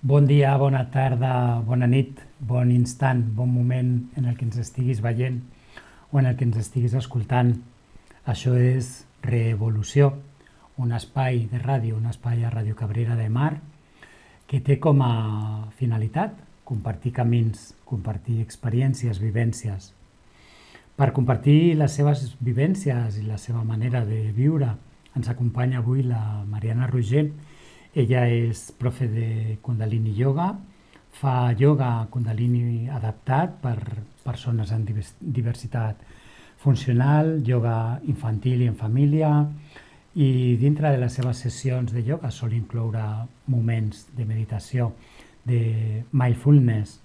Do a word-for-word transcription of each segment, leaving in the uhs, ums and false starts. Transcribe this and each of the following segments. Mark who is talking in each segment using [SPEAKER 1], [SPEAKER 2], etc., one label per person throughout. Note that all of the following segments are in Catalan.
[SPEAKER 1] Bon dia, bona tarda, bona nit, bon instant, bon moment en el que ens estiguis veient o en el que ens estiguis escoltant. Això és Revolució, un espai de ràdio, un espai a Ràdio Cabrera de Mar que té com a finalitat compartir camins, compartir experiències, vivències. Per compartir les seves vivències i la seva manera de viure ens acompanya avui la Mariana Roger. Ella és profe de Kundalini Yoga, fa yoga Kundalini adaptat per persones amb diversitat funcional, yoga infantil i en família, i dintre de les seves sessions de yoga sol incloure moments de meditació, de mindfulness.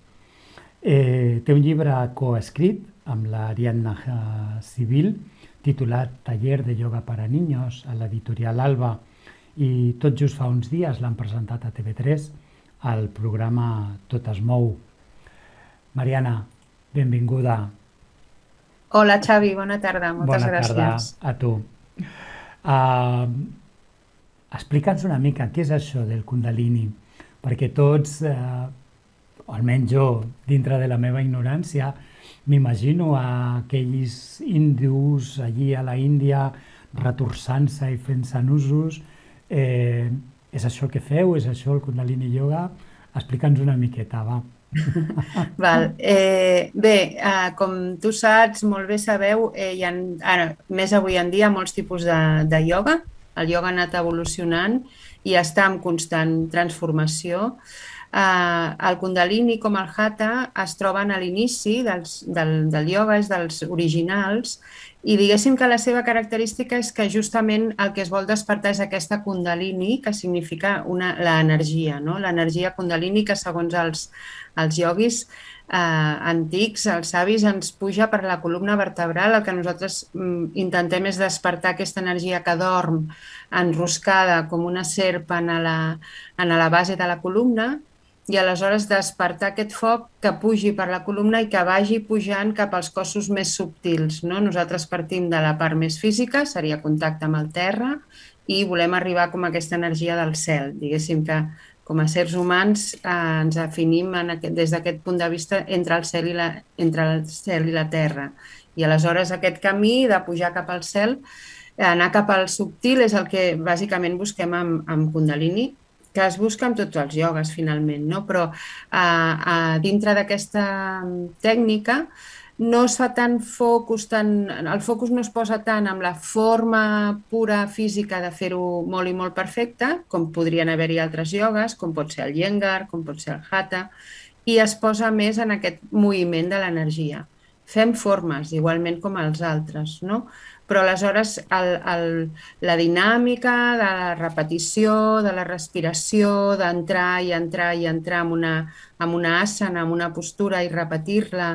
[SPEAKER 1] Eh, té un llibre coescrit amb l'Ariadna Civil titulat Taller de Yoga para Niños a l'editorial Alba, i tot just fa uns dies l'han presentat a T V tres al programa Tot es mou. Mariana, benvinguda.
[SPEAKER 2] Hola Xavi, bona tarda, moltes
[SPEAKER 1] Bona tarda
[SPEAKER 2] gràcies.
[SPEAKER 1] a tu. Uh, Explica'ns una mica què és això del Kundalini, perquè tots, uh, o almenys jo, dintre de la meva ignorància, m'imagino a aquells hindus allí a la Índia retorçant-se i fent-se nusos. Eh, és això el que feu? És això el Kundalini Yoga? Explica'ns una miqueta, va.
[SPEAKER 2] Val. Eh, bé, eh, com tu saps, molt bé sabeu, eh, hi ha, ara, més avui en dia, molts tipus de, de ioga. El ioga ha anat evolucionant i està en constant transformació. Eh, el Kundalini, com el Hatha, es troben a l'inici dels, del, del ioga, és dels originals, i diguéssim que la seva característica és que justament el que es vol despertar és aquesta Kundalini, que significa l'energia, no? L'energia Kundalini que segons els, els ioguis eh, antics, els savis, ens puja per la columna vertebral. El que nosaltres mm, intentem és despertar aquesta energia que dorm enroscada com una serp en la, en la base de la columna, i aleshores despertar aquest foc que pugi per la columna i que vagi pujant cap als cossos més subtils, no? Nosaltres partim de la part més física, seria contacte amb el terra, i volem arribar com a aquesta energia del cel. Diguéssim que com a sers humans eh, ens definim en aquest, des d'aquest punt de vista entre el, cel i la, entre el cel i la terra. I aleshores aquest camí de pujar cap al cel, anar cap al subtil, és el que bàsicament busquem amb, amb Kundalini, que es busca amb tots els iogues, finalment, no? Però eh, eh, dintre d'aquesta tècnica no es fa tant focus, tant, el focus no es posa tant amb la forma pura física de fer-ho molt i molt perfecte, com podrien haver-hi altres iogues, com pot ser el Iyengar, com pot ser el Hatha, i es posa més en aquest moviment de l'energia. Fem formes, igualment com els altres, no? Però aleshores el, el, la dinàmica de la repetició, de la respiració, d'entrar i entrar i entrar en una, en una asana, en una postura i repetir-la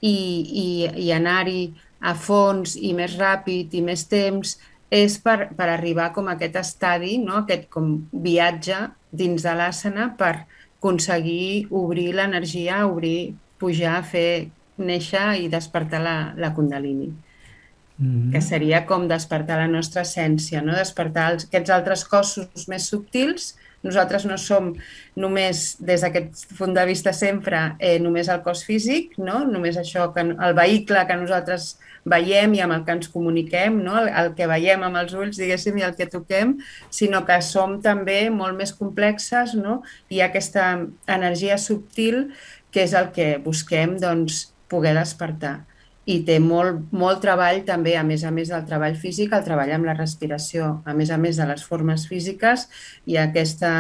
[SPEAKER 2] i, i, i anar-hi a fons i més ràpid i més temps, és per, per arribar com a aquest estadi, no? Aquest com viatge dins de l'asana per aconseguir obrir l'energia, obrir, pujar, fer néixer i despertar la, la Kundalini, que
[SPEAKER 1] Mm.
[SPEAKER 2] seria com despertar la nostra essència, no? Despertar els, aquests altres cossos més subtils. Nosaltres no som només, des d'aquest punt de vista sempre, eh, només el cos físic, no? Només això, que, el vehicle que nosaltres veiem i amb el que ens comuniquem, no? el, el que veiem amb els ulls, diguéssim, i el que toquem, sinó que som també molt més complexes, no? Hi ha aquesta energia subtil que és el que busquem, doncs, poder despertar. I té molt, molt treball també, a més a més del treball físic, el treball amb la respiració. A més a més de les formes físiques, hi ha aquesta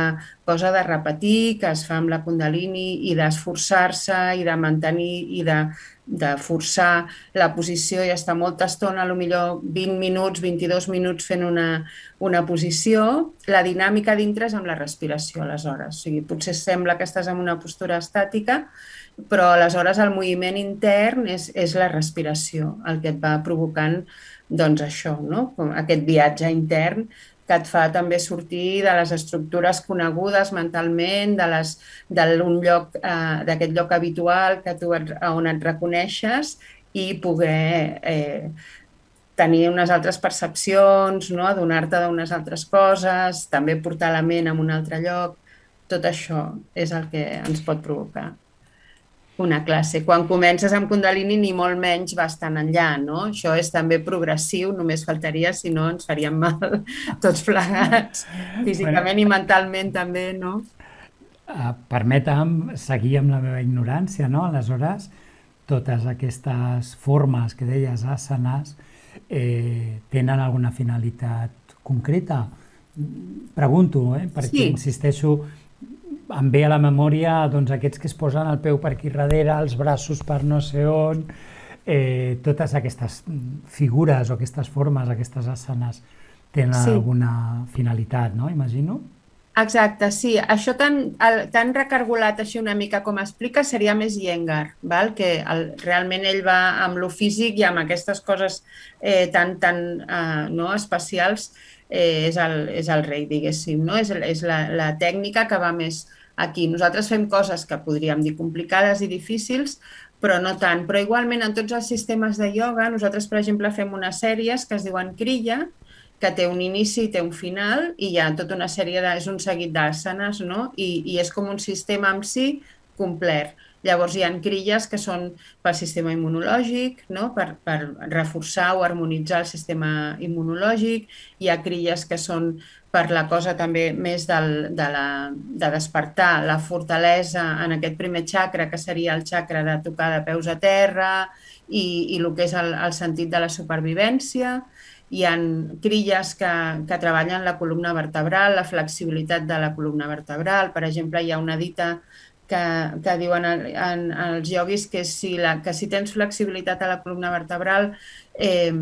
[SPEAKER 2] cosa de repetir que es fa amb la Kundalini i d'esforçar-se i de mantenir i de, de forçar la posició i estar molta estona, potser vint minuts, vint-i-dos minuts fent una, una posició. La dinàmica dintre és amb la respiració, aleshores. O sigui, potser sembla que estàs en una postura estàtica, però aleshores el moviment intern és, és la respiració, el que et va provocant doncs això, no? Aquest viatge intern que et fa també sortir de les estructures conegudes mentalment, de les, d'un lloc, eh, d'aquest lloc habitual que tu et, on et reconeixes i poder eh, tenir unes altres percepcions, no? Adonar-te d'unes altres coses, també portar la ment a un altre lloc. tot això és el que ens pot provocar una classe. Quan comences amb Kundalini ni molt menys vas tan enllà, no? Això és també progressiu, només faltaria, si no ens faríem mal tots plegats, físicament i mentalment també, no?
[SPEAKER 1] Uh, permetem seguir amb la meva ignorància, no? Aleshores, totes aquestes formes que deies, asanes, eh, tenen alguna finalitat concreta? Pregunto, eh? Perquè sí. Insisteixo, em ve a la memòria doncs, aquests que es posen el peu per aquí darrere, els braços per no sé on, eh, totes aquestes figures o aquestes formes, aquestes asanes, tenen sí. alguna finalitat, no? Imagino.
[SPEAKER 2] Exacte, sí. Això tan, el, tan recargolat així una mica com explica seria més Iyengar, val? Que el, realment ell va amb lo físic i amb aquestes coses eh, tan, tan eh, no, especials, eh, és, el, és el rei, diguéssim, no? És, és la, la tècnica que va més aquí. Nosaltres fem coses que podríem dir complicades i difícils, però no tant. Però igualment en tots els sistemes de ioga, nosaltres, per exemple, fem unes sèries que es diuen Kriya, que té un inici i té un final, i hi ha tota una sèrie de... és un seguit d'asanes, no? I, i és com un sistema en si complet. Llavors hi ha crilles que són pel sistema immunològic, no? per, per reforçar o harmonitzar el sistema immunològic, hi ha crilles que són per la cosa també més del, de, la, de despertar la fortalesa en aquest primer xacra, que seria el xacra de tocar de peus a terra i, i el que és el, el sentit de la supervivència. Hi ha crilles que, que treballen la columna vertebral, la flexibilitat de la columna vertebral. Per exemple, hi ha una dita que, que diuen en, en, en els ioguis que si, la, que si tens flexibilitat a la columna vertebral eh,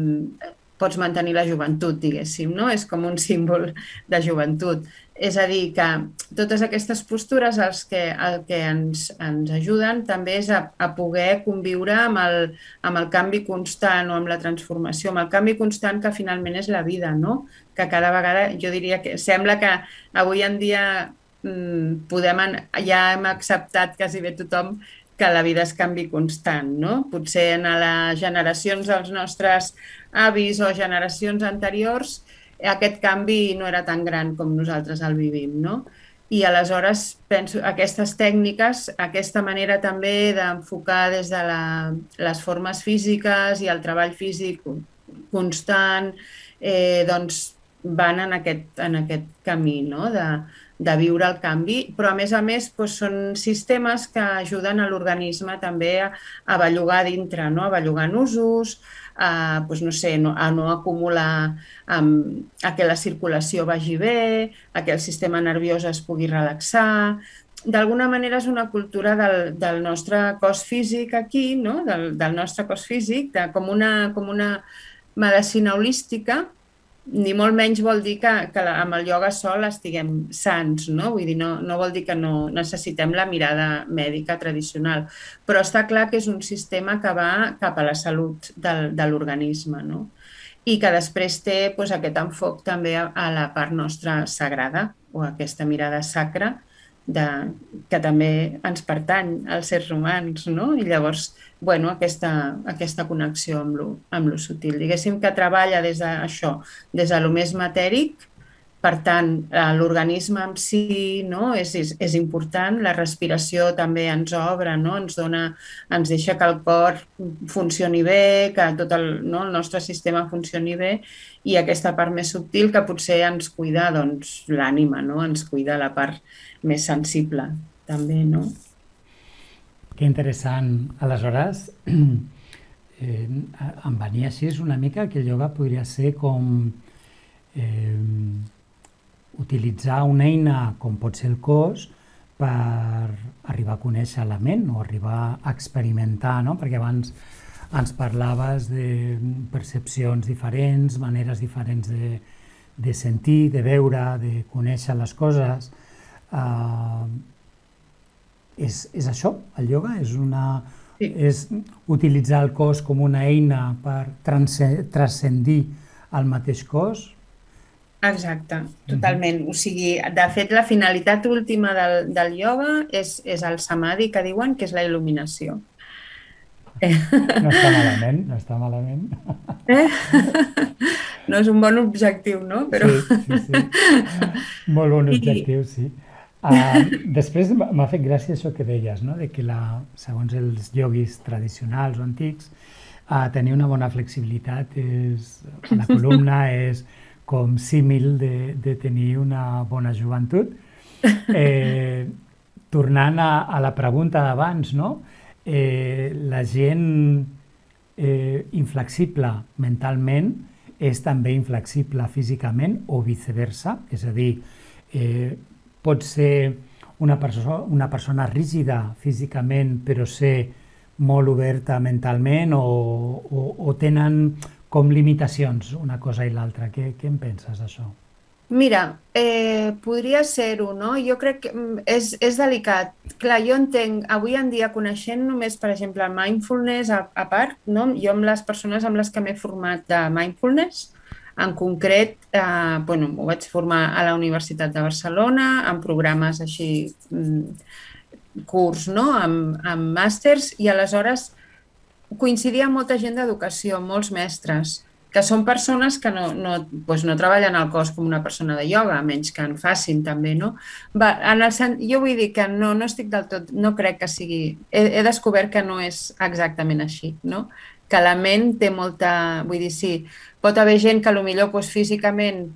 [SPEAKER 2] pots mantenir la joventut, diguéssim, no? És com un símbol de joventut. És a dir, que totes aquestes postures els que, el que ens, ens ajuden també és a, a poder conviure amb el, amb el canvi constant o amb la transformació, amb el canvi constant que finalment és la vida, no? Que cada vegada, jo diria que sembla que avui en dia mmm, podem, ja hem acceptat quasi bé tothom que la vida és canvi constant, no? Potser en les generacions dels nostres avis o generacions anteriors aquest canvi no era tan gran com nosaltres el vivim, no? I aleshores penso aquestes tècniques, aquesta manera també d'enfocar des de la, les formes físiques i el treball físic constant, eh, doncs van en aquest, en aquest camí, no? de, de viure el canvi, però a més a més doncs, són sistemes que ajuden a l'organisme també a, a bellugar dintre, no? A bellugar nusos, a, doncs, no sé, no, a no acumular, um, a que la circulació vagi bé, a que el sistema nerviós es pugui relaxar. D'alguna manera és una cultura del, del nostre cos físic aquí, no? del, del nostre cos físic, de, com, una, com una medicina holística, ni molt menys vol dir que, que amb el ioga sol estiguem sants, no? Vull dir, no, no vol dir que no necessitem la mirada mèdica tradicional, però està clar que és un sistema que va cap a la salut del, de l'organisme, no? I que després té doncs, aquest enfoc també a, a la part nostra sagrada, o aquesta mirada sacra, de, que també ens pertany als éssers humans, no? I llavors, bueno, aquesta, aquesta connexió amb lo, amb lo sutil. Diguéssim que treballa des d'això, des de lo més matèric, per tant, l'organisme en si, no? és, és, és important, la respiració també ens obre, no? ens, dona, ens deixa que el cor funcioni bé, que tot el, no? el nostre sistema funcioni bé, i aquesta part més subtil que potser ens cuida doncs, l'ànima, no? Ens cuida la part més sensible, també, no?
[SPEAKER 1] Que interessant. Aleshores, eh, em venia així una mica que el ioga podria ser com eh, utilitzar una eina com pot ser el cos per arribar a conèixer la ment o arribar a experimentar, no? Perquè abans ens parlaves de percepcions diferents, maneres diferents de, de sentir, de veure, de conèixer les coses. Uh, és, és això, el ioga? És, una, sí. és utilitzar el cos com una eina per transcendir el mateix cos?
[SPEAKER 2] Exacte, totalment. Uh-huh. O sigui, de fet, la finalitat última del, del ioga és, és el samadhi, que diuen que és la il·luminació.
[SPEAKER 1] No està malament, no està malament.
[SPEAKER 2] Eh? No és un bon objectiu, no? Però...
[SPEAKER 1] Sí, sí, sí. Molt bon objectiu, sí. Uh, després m'ha fet gràcia això que deies, no? De que la, segons els ioguis tradicionals o antics, uh, tenir una bona flexibilitat és, la columna és com símil de, de tenir una bona joventut. Eh, tornant a, a la pregunta d'abans, no? Eh, la gent eh, inflexible mentalment és també inflexible físicament o viceversa, és a dir, eh, pot ser una, perso una persona rígida físicament però ser molt oberta mentalment o, o, o tenen com limitacions una cosa i l'altra. Què, què en penses d'això?
[SPEAKER 2] Mira, eh, podria ser-ho, no? Jo crec que és, és delicat. Clar, jo entenc, avui en dia coneixent només, per exemple, el mindfulness a, a part, no? Jo amb les persones amb les que m'he format de mindfulness, en concret, eh, bueno, ho vaig formar a la Universitat de Barcelona, en programes així, curs, no? amb, amb màsters, i aleshores coincidia amb molta gent d'educació, molts mestres, que són persones que no, no, doncs no treballen al cos com una persona de ioga, a menys que en facin també, no? Va, en el, jo vull dir que no, no estic del tot, no crec que sigui, he, he descobert que no és exactament així, no? Que la ment té molta, vull dir, sí, pot haver gent que potser doncs, físicament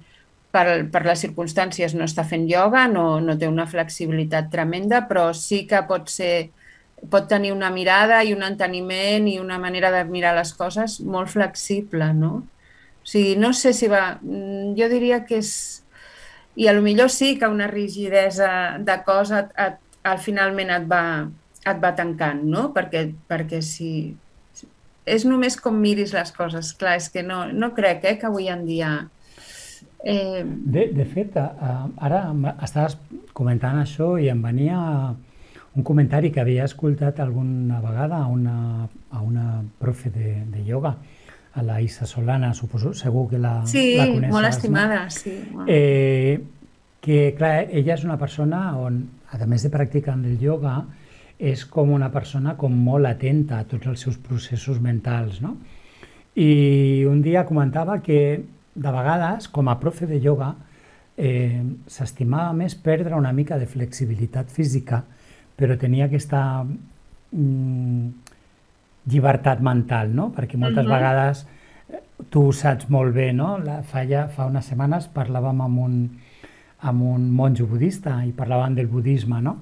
[SPEAKER 2] per, per les circumstàncies no està fent ioga, no, no té una flexibilitat tremenda, però sí que pot ser, pot tenir una mirada i un enteniment i una manera de mirar les coses molt flexible, no? O sigui, no sé si va... Jo diria que és... I potser sí que una rigidesa de cos et, et, et, finalment et va, et va tancant, no? Perquè, perquè si... És només com miris les coses. Clar, és que no, no crec eh, que avui en dia... Eh...
[SPEAKER 1] De, de fet, ara estaves comentant això i em venia un comentari que havia escoltat alguna vegada a una, a una profe de, de ioga, a la Isa Solana, suposo, segur que la,
[SPEAKER 2] sí,
[SPEAKER 1] la coneixes.
[SPEAKER 2] Sí, molt estimada, no? Sí.
[SPEAKER 1] Eh, que, clar, ella és una persona on, a més de practicar el ioga, és com una persona com molt atenta a tots els seus processos mentals, no? I un dia comentava que de vegades, com a profe de ioga, eh, s'estimava més perdre una mica de flexibilitat física, però tenia aquesta mm, llibertat mental, no? Perquè moltes uh-huh. vegades, tu ho saps molt bé, no? La, fa, ja, fa unes setmanes parlàvem amb un, amb un monjo budista i parlàvem del budisme, no?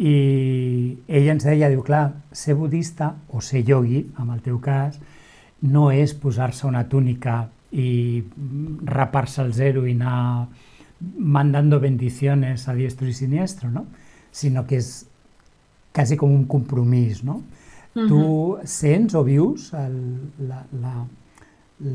[SPEAKER 1] I ell ens deia, diu, clar, ser budista o ser iogui, en el teu cas, no és posar-se una túnica i rapar-se al zero i anar mandando bendiciones a diestro y siniestro, no? Sinó que és quasi com un compromís, no? Uh-huh. Tu sents o vius el, la, la,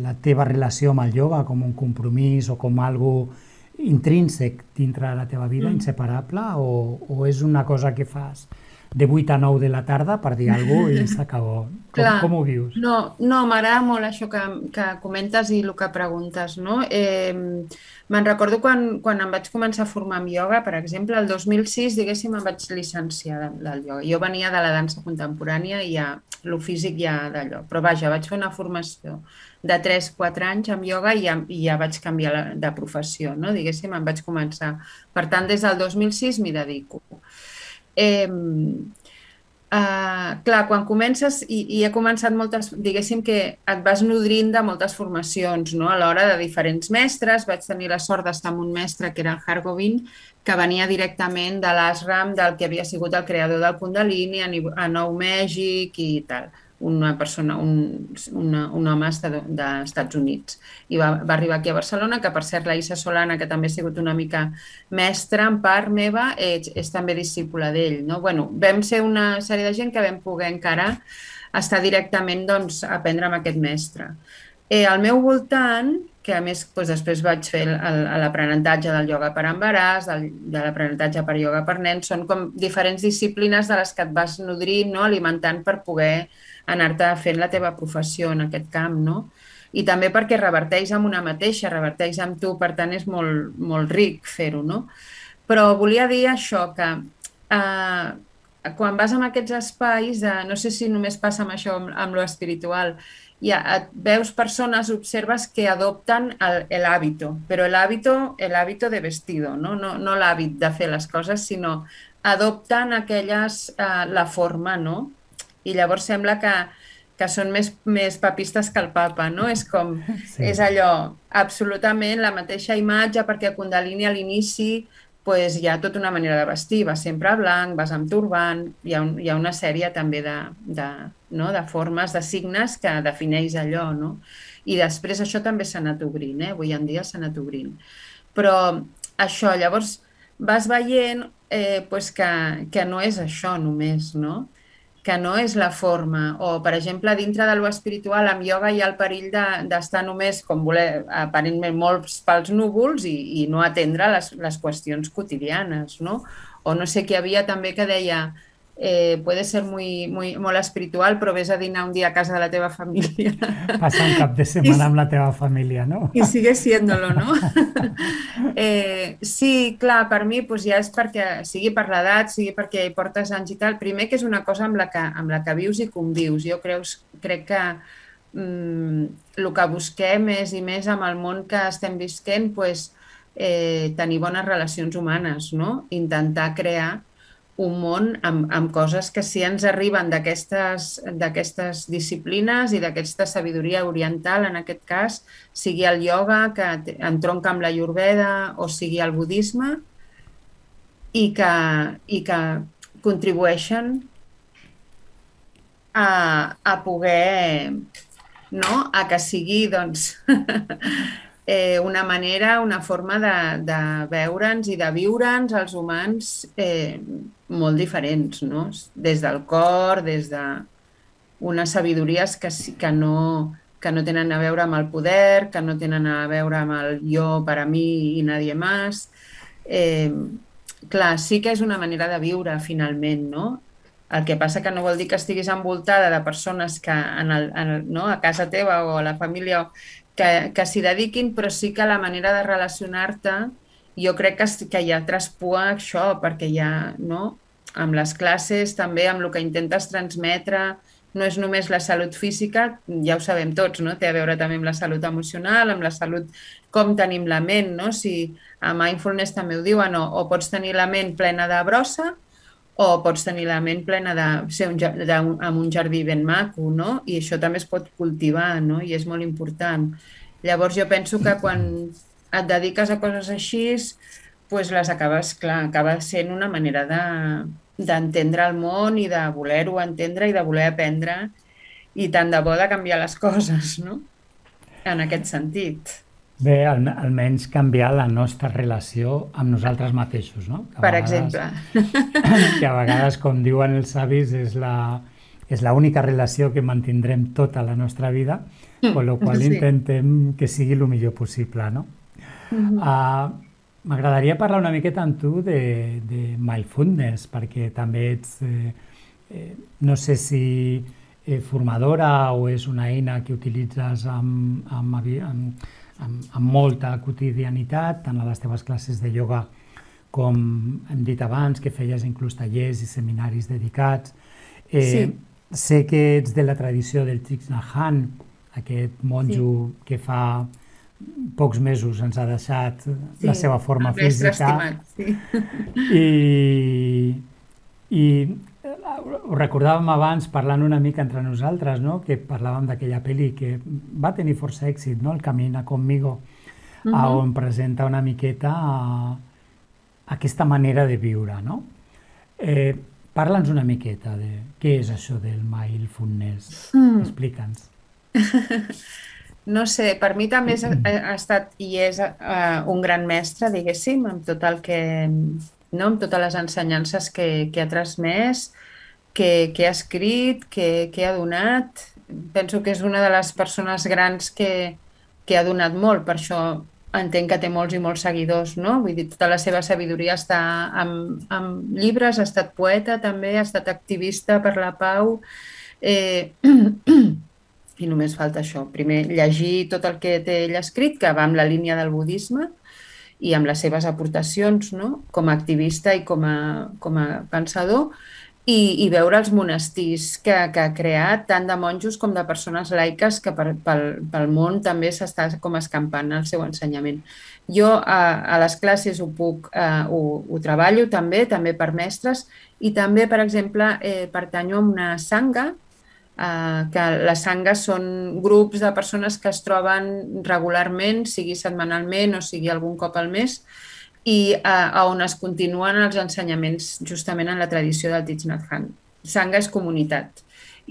[SPEAKER 1] la teva relació amb el ioga com un compromís o com algo intrínsec dintre de la teva vida, mm. inseparable, o, o és una cosa que fas de vuit a nou de la tarda, per dir alguna cosa, i s'acabó? Com, com ho vius?
[SPEAKER 2] No, no m'agrada molt això que, que comentes i el que preguntes, no? Eh, me'n recordo quan, quan em vaig començar a formar amb ioga, per exemple, el dos mil sis, diguéssim, em vaig llicenciar del ioga. Jo venia de la dansa contemporània i ja, el físic ja d'allò. Però vaja, vaig fer una formació de tres a quatre anys amb ioga i ja, i ja vaig canviar la, de professió, no? Diguéssim, em vaig començar. Per tant, des del dos mil sis m'hi dedico. Eh, uh, clar, quan comences, i, i he començat moltes, diguéssim que et vas nodrint de moltes formacions, no? A l'hora de diferents mestres, vaig tenir la sort d'estar amb un mestre que era el Hargobind, que venia directament de l'ashram del que havia sigut el creador del Kundalini a, a Nou Mèxic i tal. Una persona, un, una, un home dels Estats Units. I va, va arribar aquí a Barcelona, que per cert la Isa Solana, que també ha sigut una mica mestra en part meva, és, és també discípula d'ell, no? Bueno, vam ser una sèrie de gent que vam poder encara estar directament, doncs, a aprendre amb aquest mestre. Eh, al meu voltant, que a més doncs, després vaig fer l'aprenentatge del ioga per embaràs, del, de l'aprenentatge per ioga per nens, són com diferents disciplines de les que et vas nodrint, no? Alimentant per poder anar-te fent la teva professió en aquest camp, no? I també perquè reverteix amb una mateixa, reverteix amb tu, per tant és molt, molt ric fer-ho, no? Però volia dir això, que eh, quan vas en aquests espais, de, no sé si només passa amb això, amb, amb lo espiritual, i veus persones, observes que adopten el, el hábito, però el hábito, el hábito de vestido, no, no, no l'hàbit de fer les coses, sinó adopten aquelles, eh, la forma, no? I llavors sembla que, que són més, més papistes que el papa, no? És com,
[SPEAKER 1] Sí.
[SPEAKER 2] és allò, absolutament la mateixa imatge, perquè a Kundalini a l'inici pues, hi ha tota una manera de vestir, vas sempre blanc, vas amb turbant, hi ha, un, hi ha una sèrie també de, de, no? de formes, de signes que defineix allò, no? I després això també s'ha anat obrint, eh? Avui en dia s'ha anat obrint. Però això, llavors vas veient eh, pues que, que no és això només, no? Que no és la forma, o per exemple dintre de lo espiritual amb ioga hi ha el perill d'estar de, només com voler, aparentment molts pels núvols i, i no atendre les, les qüestions quotidianes, no? O no sé, que hi havia també que deia eh, puede ser muy, muy, molt espiritual, però vés a dinar un dia a casa de la teva família.
[SPEAKER 1] Passa un cap de setmana amb la teva família, no?
[SPEAKER 2] I sigue siéndolo, no? eh, sí, clar, per mi pues, ja és perquè, sigui per l'edat, sigui perquè hi portes anys i tal, primer que és una cosa amb la que, amb la que vius i convius. Jo creus, crec que mm, el que busquem és, i més amb el món que estem visquent, pues, eh, tenir bones relacions humanes, no? Intentar crear un món amb, amb coses que sí ens arriben d'aquestes disciplines i d'aquesta sabidoria oriental, en aquest cas, sigui el ioga, que entronca amb la Ayurveda, o sigui el budisme, i que, i que contribueixen a, a poder, no? A que sigui, doncs, eh, una manera, una forma de, de veure'ns i de viure'ns els humans eh, molt diferents, no? Des del cor, des de unes sabidories que, que, no, que no tenen a veure amb el poder, que no tenen a veure amb el jo per a mi i nadie más. Eh, clar, sí que és una manera de viure, finalment, no? El que passa que no vol dir que estiguis envoltada de persones que en el, en el, no? a casa teva o a la família que, que s'hi dediquin, però sí que la manera de relacionar-te jo crec que, que ja traspua això, perquè ja, no? Amb les classes, també amb el que intentes transmetre, no és només la salut física, ja ho sabem tots, no? Té a veure també amb la salut emocional, amb la salut, com tenim la ment, no? Si a Mindfulness també ho diuen, o, o pots tenir la ment plena de brossa, o pots tenir la ment plena de ser un, de, amb un jardí ben maco, no? I això també es pot cultivar, no? I és molt important. Llavors jo penso que quan et dediques a coses així, doncs les acabes, clar, acaba sent una manera de, d'entendre el món i de voler-ho entendre i de voler aprendre i tant de bo de canviar les coses, no? En aquest sentit.
[SPEAKER 1] Bé, al, almenys canviar la nostra relació amb nosaltres mateixos, no? Que
[SPEAKER 2] per
[SPEAKER 1] vegades,
[SPEAKER 2] exemple.
[SPEAKER 1] Que a vegades, com diuen els savis, és la, és l'única relació que mantindrem tota la nostra vida, amb la qual sí. Intentem que sigui el millor possible, no? Uh-huh. uh, M'agradaria parlar una miqueta amb tu de, de mindfulness, perquè també ets, eh, eh, no sé si eh, formadora o és una eina que utilitzes amb, amb, amb, amb, amb molta quotidianitat, tant a les teves classes de ioga com hem dit abans, que feies inclús tallers i seminaris dedicats. Eh, sí. Sé que ets de la tradició del Thich Nhat Hanh, aquest monjo sí. que fa pocs mesos ens ha deixat sí, la seva forma física. Estimat, sí. I, i ho recordàvem abans parlant una mica entre nosaltres, no? Que parlàvem d'aquella pel·li que va tenir força èxit, no? El Camina conmigo, uh-huh. on presenta una miqueta a, a aquesta manera de viure, no? Eh, Parla'ns una miqueta de què és això del mindfulness. Mm. Explica'ns.
[SPEAKER 2] No sé, per mi també ha, ha estat i és uh, un gran mestre, diguéssim, amb tot el que, no? Amb totes les ensenyances que, que ha transmès, que, que ha escrit, que, que ha donat. Penso que és una de les persones grans que, que ha donat molt, per això entenc que té molts i molts seguidors, no? Vull dir, tota la seva sabidoria està amb, amb llibres, ha estat poeta també, ha estat activista per la pau. Eh, I només falta això. Primer, llegir tot el que té ell escrit, que va amb la línia del budisme i amb les seves aportacions, no? Com a activista i com a, com a pensador. i, i veure els monestirs que, que ha creat, tant de monjos com de persones laiques, que per, pel, pel món també s'està com escampant el seu ensenyament. Jo a, a les classes ho puc, eh, ho, ho treballo també, també per mestres, i també, per exemple, eh, pertanyo a una sangha, eh, que les sangues són grups de persones que es troben regularment, sigui setmanalment o sigui algun cop al mes, i a on es continuen els ensenyaments justament en la tradició del Thich Nhat Hanh. Sangha és comunitat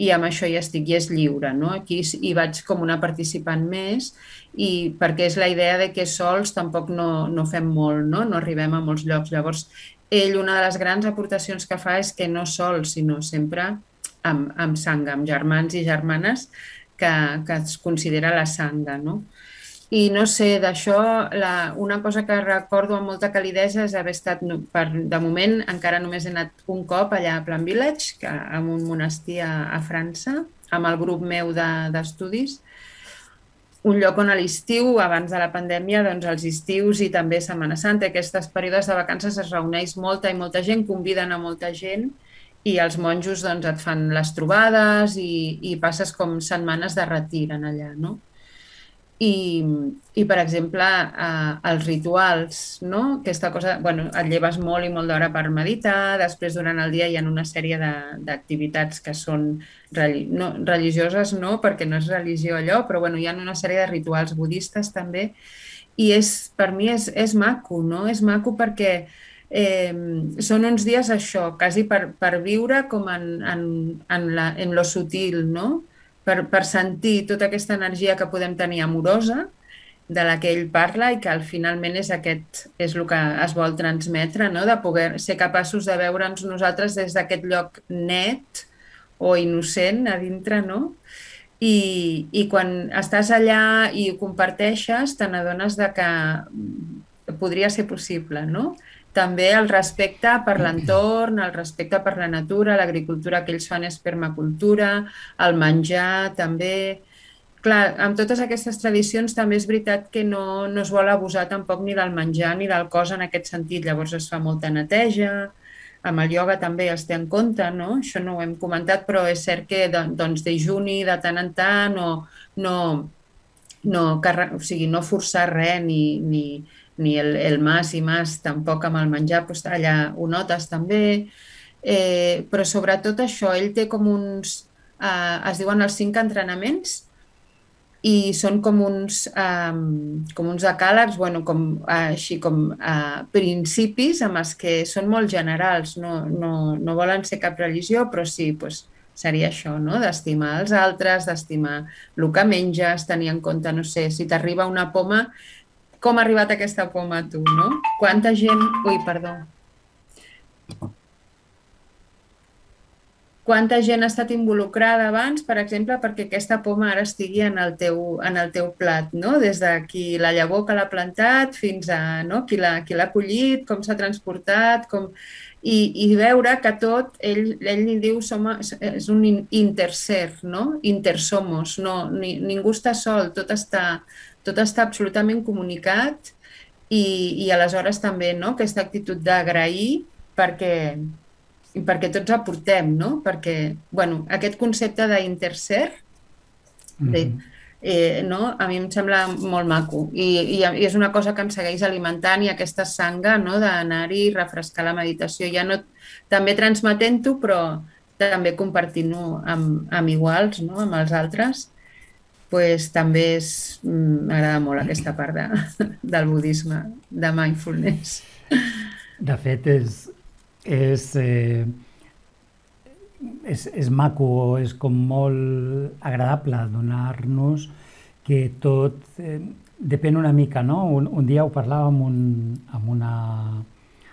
[SPEAKER 2] i amb això hi estic, i és lliure, no? Aquí hi vaig com una participant més, i perquè és la idea de que sols tampoc no, no fem molt, no? No arribem a molts llocs. Llavors, ell, una de les grans aportacions que fa és que no sol, sinó sempre amb, amb sangha, amb germans i germanes que, que es considera la sangha, no? I no sé, d'això, una cosa que recordo amb molta calidesa és haver estat, per, de moment, encara només he anat un cop allà a Plan Village, que, en un monestir a, a França, amb el grup meu d'estudis, un lloc on a l'estiu, abans de la pandèmia, doncs els estius i també Setmana Santa, aquestes períodes de vacances es reuneix molta i molta gent, conviden a molta gent, i els monjos doncs, et fan les trobades i, i passes com setmanes de retir en allà, no? I, i per exemple, eh, els rituals, no? Aquesta cosa, bueno, et lleves molt i molt d'hora per meditar, després durant el dia hi ha una sèrie d'activitats que són religi no, religioses, no, perquè no és religió allò, però bueno, hi ha una sèrie de rituals budistes també, i és, per mi és, és maco, no? És maco perquè eh, són uns dies això, quasi per, per viure com en, en, en, la, en lo sutil, no? Per, per sentir tota aquesta energia que podem tenir amorosa, de la que ell parla, i que al finalment és, aquest, és el que es vol transmetre, no? De poder ser capaços de veure'ns nosaltres des d'aquest lloc net o innocent a dintre, no? I, i quan estàs allà i ho comparteixes, te n'adones de que podria ser possible, no? També el respecte per l'entorn, el respecte per la natura, l'agricultura que ells fan és permacultura, el menjar també. Clar, amb totes aquestes tradicions també és veritat que no, no es vol abusar tampoc ni del menjar ni del cos en aquest sentit. Llavors es fa molta neteja, amb el ioga també es té en compte, no? Això no ho hem comentat, però és cert que doncs, dejuni de tant en tant o no, no, o sigui, no forçar res ni... ni ni el, el mas i mas tampoc amb el menjar, doncs allà ho notes també, eh, però sobretot això, ell té com uns, eh, es diuen els cinc entrenaments, i són com uns, eh, com uns decàlegs, bueno, com, eh, així com eh, principis amb els que són molt generals, no, no, no volen ser cap religió, però sí, doncs, seria això, no? D'estimar els altres, d'estimar el que menges, tenir en compte, no sé, si t'arriba una poma, com ha arribat aquesta poma a tu, no? Quanta gent... Ui, perdó. Quanta gent ha estat involucrada abans, per exemple, perquè aquesta poma ara estigui en el teu, en el teu plat, no? Des de qui la llavor que l'ha plantat fins a, no? Qui l'ha qui l'ha collit, com s'ha transportat, com... I, i veure que tot, ell, ell li diu, som, és un interser, no? Intersomos, no, ni, ningú està sol, tot està... tot està absolutament comunicat i, i aleshores també, no? Aquesta actitud d'agrair perquè, perquè tots aportem, no? Perquè, bueno, aquest concepte d'interser, mm-hmm. eh, no? A mi em sembla molt maco i, i, i és una cosa que em segueix alimentant, i aquesta sangha, no? D'anar-hi, refrescar la meditació, ja no també transmetent-ho, però també compartint-ho amb, amb iguals, no? Amb els altres. Pues, també m'agrada molt aquesta part de, del budisme, de mindfulness.
[SPEAKER 1] De fet, és, és, eh, és, és maco, és com molt agradable donar-nos que tot eh, depèn una mica, no? Un, un dia ho parlava amb, un, amb, una,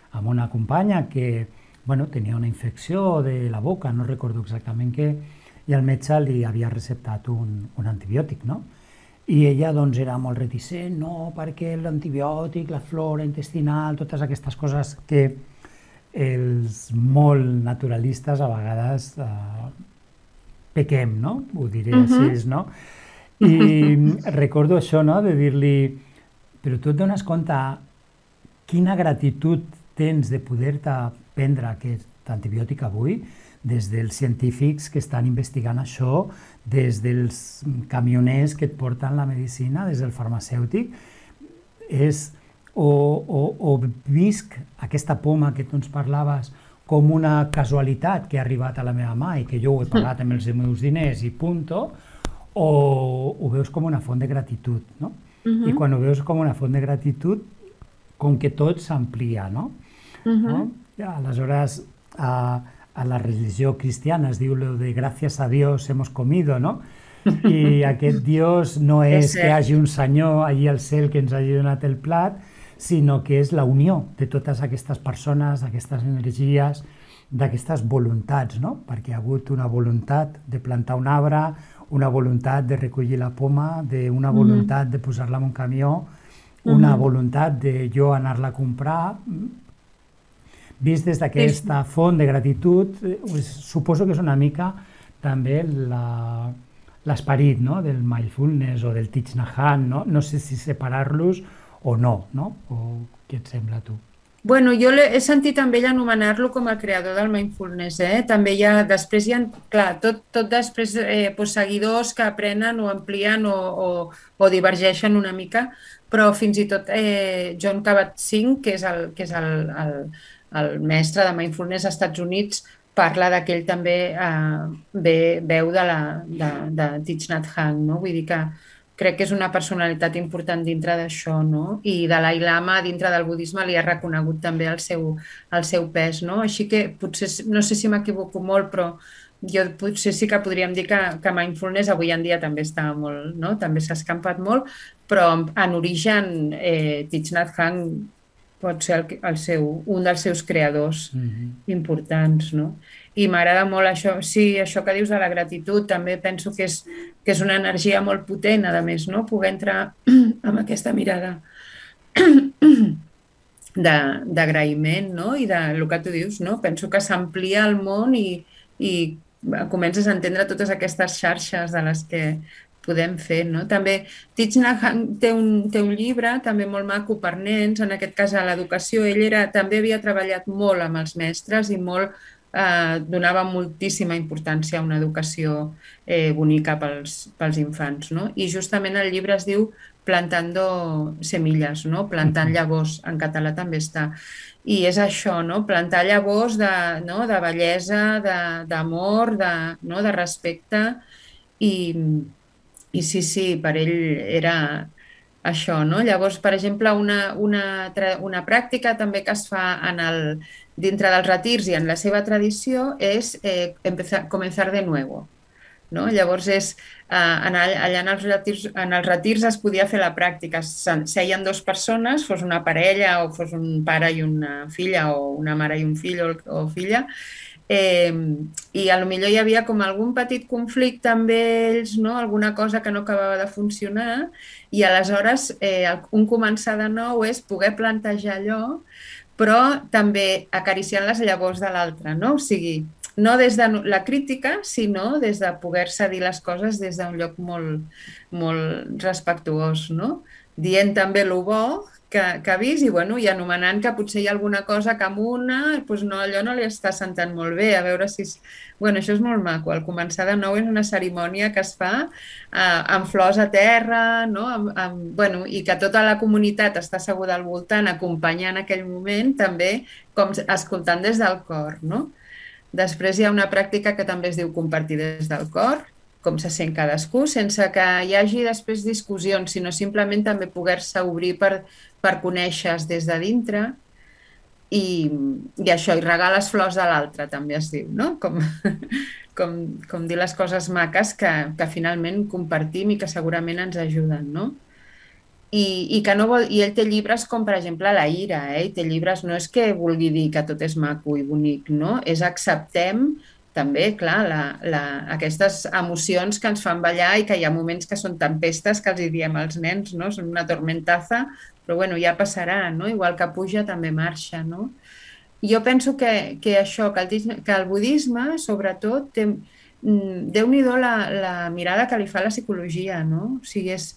[SPEAKER 1] amb una companya que bueno, tenia una infecció de la boca, no recordo exactament què, i el metge li havia receptat un, un antibiòtic, no? I ella doncs era molt reticent, no, perquè l'antibiòtic, la flora intestinal, totes aquestes coses que els molt naturalistes a vegades eh, pequem, no? Ho diré uh-huh. així, no? I recordo això, no?, de dir-li, però tu et dones compte quina gratitud tens de poder-te prendre aquest antibiòtic avui? des dels científics que estan investigant això, des dels camioners que et porten la medicina, des del farmacèutic. És, o, o, o visc aquesta poma que tu ens parlaves com una casualitat que ha arribat a la meva mà i que jo ho he pagat amb els meus diners i punto, o ho veus com una font de gratitud, no? Uh-huh. I quan ho veus com una font de gratitud, com que tot s'amplia, no? Uh-huh. No? Aleshores, a, a la religió cristiana es diu lo de gracias a Dios hemos comido, no? I aquest Dios no és que hi hagi un senyor allí al cel que ens hagi donat el plat, sinó que és la unió de totes aquestes persones, d'aquestes energies, d'aquestes voluntats, no? Perquè hi ha hagut una voluntat de plantar un arbre, una voluntat de recollir la poma, una voluntat de posar-la en un camió, una voluntat de jo anar-la a comprar. Vist des d'aquesta font de gratitud, suposo que és una mica també l'esperit del mindfulness o del Thich Nhat Hanh, no? No sé si separar-los o no, no? O què et sembla a tu?
[SPEAKER 2] Bueno, jo he sentit també ell anomenar-lo com el creador del mindfulness, eh? També hi ha, després hi ha, clar, tot, tot després eh, pues, seguidors que aprenen o amplien o, o, o divergeixen una mica, però fins i tot eh, Jon Kabat-Zinn, que és, el, que és el, el, el mestre de mindfulness als Estats Units, parla de que ell també eh, ve, veu de, la, de, de Thich Nhat Hanh, no? Vull dir que crec que és una personalitat important dintre d'això, no? I Dalai Lama, dintre del budisme, li ha reconegut també el seu, el seu pes, no? Així que potser, no sé si m'equivoco molt, però jo potser sí que podríem dir que, que mindfulness avui en dia també està molt, no? També s'ha escampat molt, però en origen eh, Thich Nhat Hanh pot ser el, el seu, un dels seus creadors mm-hmm. importants, no? I m'agrada molt això, sí, això que dius de la gratitud, també penso que és, que és una energia molt potent, a més, no? Poder entrar amb aquesta mirada d'agraïment, no? I de el que tu dius, no? Penso que s'amplia el món i, i comences a entendre totes aquestes xarxes de les que podem fer, no? També Thich Nhat Hanh té un, té un llibre també molt maco per nens, en aquest cas a l'educació. Ell era, també havia treballat molt amb els mestres i molt Eh, donava moltíssima importància a una educació eh, bonica pels, pels infants, no? I justament el llibre es diu Plantando semillas, no? Plantant llavors, en català també està. I és això, no? Plantar llavors de, no? de bellesa, d'amor, de, de, no? de respecte. I, I sí, sí, per ell era això, no? Llavors, per exemple, una, una, una pràctica també que es fa en el, dintre dels retirs i en la seva tradició és eh, empezar, comenzar de nuevo. No? Llavors, és, eh, allà en els, retirs, en els retirs es podia fer la pràctica. Seien dues persones, fos una parella o fos un pare i una filla o una mare i un fill o, o filla, Eh, i a lo millor hi havia com algun petit conflicte amb ells, no? Alguna cosa que no acabava de funcionar i aleshores eh, un començar de nou és poder plantejar allò, però també acariciant les llavors de l'altre, no? O sigui, no des de la crítica, sinó des de poder-se dir les coses des d'un lloc molt, molt respectuós, no? Dient també el bo que, que ha vist i, bueno, i anomenant que potser hi ha alguna cosa que amb una, doncs no, allò no li està sentant molt bé, a veure si... És... Bueno, això és molt maco, el començar de nou és una cerimònia que es fa eh, amb flors a terra, no? Amb, amb, bueno, i que tota la comunitat està asseguda al voltant, acompanyant aquell moment, també com escoltant des del cor, no? Després hi ha una pràctica que també es diu compartir des del cor, com se sent cadascú, sense que hi hagi després discussions, sinó simplement també poder-se obrir per, per conèixer-se des de dintre i, i això, i regar les flors de l'altre, també es diu, no? Com, com, com dir les coses maques que, que finalment compartim i que segurament ens ajuden, no? I, i, que no vol, i ell té llibres com, per exemple, la ira, eh? I té llibres, no és que vulgui dir que tot és maco i bonic, no? És acceptem també, clar, la, la, aquestes emocions que ens fan ballar i que hi ha moments que són tempestes que els hi diem als nens, no? Són una tormentaza, però bueno, ja passarà, no? Igual que puja també marxa, no? Jo penso que, que això, que el, que el budisme, sobretot, té, Déu-n'hi-do la, la mirada que li fa la psicologia, no? O sigui, és,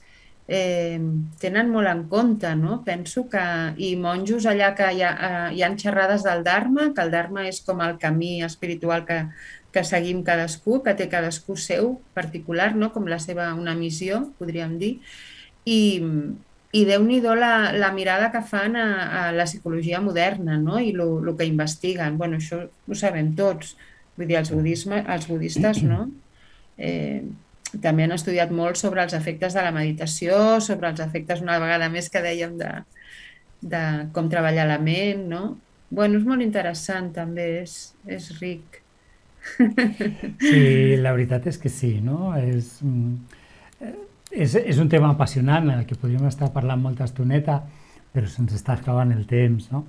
[SPEAKER 2] eh, tenen molt en compte, no? Penso que... I monjos allà que hi ha, eh, hi ha xerrades del Dharma, que el Dharma és com el camí espiritual que, que seguim cadascú, que té cadascú seu particular, no? Com la seva, una missió, podríem dir. I, i Déu-n'hi-do la, la mirada que fan a, a la psicologia moderna, no? I el que investiguen. Bueno, això ho sabem tots. Vull dir, els, budisme, els budistes, no? Eh, també han estudiat molt sobre els efectes de la meditació, sobre els efectes, una vegada més, que dèiem de, de com treballar la ment, no? Bueno, és molt interessant, també, és, és ric.
[SPEAKER 1] Sí, la veritat és que sí, no? És, és, és un tema apassionant en el que podríem estar parlant molta estoneta, però se'ns està acabant el temps, no?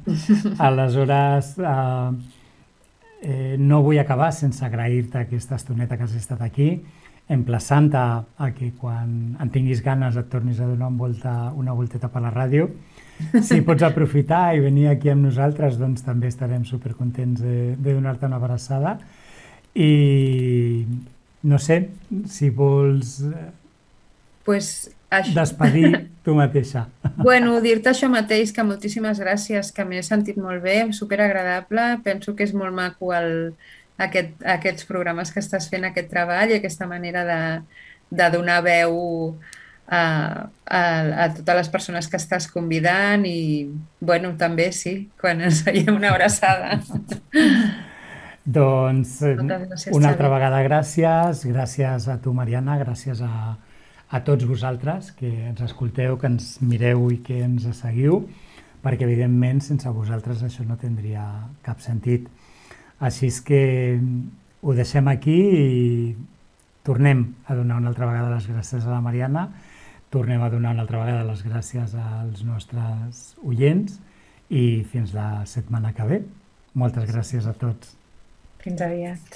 [SPEAKER 1] Aleshores, eh, eh, no vull acabar sense agrair-te aquesta estoneta que has estat aquí, emplaçant-te a que quan en tinguis ganes et tornis a donar una, volta, una volteta per la ràdio. Si pots aprofitar i venir aquí amb nosaltres, doncs també estarem supercontents de, de donar-te una abraçada. I no sé, si vols
[SPEAKER 2] pues això...
[SPEAKER 1] despedir tu mateixa.
[SPEAKER 2] Bueno, dir-te això mateix, que moltíssimes gràcies, que m'he sentit molt bé, superagradable. Penso que és molt maco el, aquest, aquests programes que estàs fent, aquest treball i aquesta manera de, de donar veu a, a, a totes les persones que estàs convidant i, bueno, també sí, quan ens veiem una abraçada.
[SPEAKER 1] Doncs
[SPEAKER 2] gràcies,
[SPEAKER 1] una altra
[SPEAKER 2] Xavi.
[SPEAKER 1] vegada gràcies, gràcies a tu, Mariana, gràcies a, a tots vosaltres que ens escolteu, que ens mireu i que ens seguiu, perquè evidentment sense vosaltres això no tindria cap sentit. Així és que ho deixem aquí i tornem a donar una altra vegada les gràcies a la Mariana, tornem a donar una altra vegada les gràcies als nostres oients i fins la setmana que ve. Moltes gràcies a tots.
[SPEAKER 2] Fins aviat.